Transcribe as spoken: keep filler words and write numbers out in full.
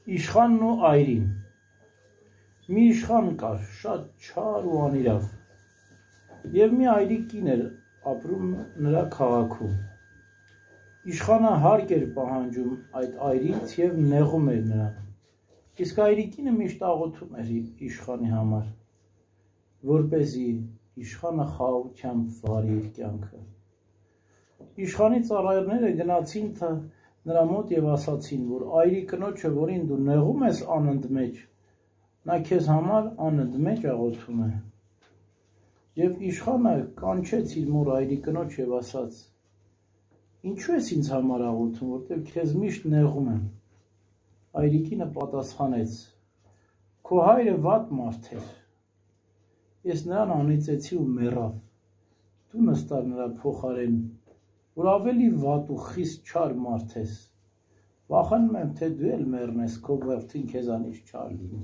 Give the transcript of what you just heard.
Իշխանն ու այրին։ Մի իշխան կար, շատ չար ու անիրավ, և մի այրի կին էր ապրում նրա քաղաքում։ Իշխանը հարկ էր պահանջում այդ այրից և նեղում էր նրան, իսկ այրիկինը միշտ աղոթում էր իշխանի համար, որպեսզի իշխանը խաղաղությամբ վարի իր կյանքը։ Իշխանի ծառաները գնացին նրա մոտ և ասացին, որ այրի կնոջը, որին դու նեղում ես անընդմեջ, նա քեզ համար անընդմեջ աղոթում է։ Եվ իշխանը կանչեց իր մոր այրի կնոջ և ասաց. «Ինչու ես ինձ համար աղոթում, որտև քեզ միշտ նեղում եմ»։ Այրիկինը պատասխանեց. «Քո հայրը վատ մարդ էր, ես նրան անիծեցի ու մեռավ, դու նստար նրա փոխարեն, որ ավելի վատ ու խիստ չար մարդ ես, վախենում եմ, թե դու էլ մեռնես, քո որդին քեզանից չար լինի»։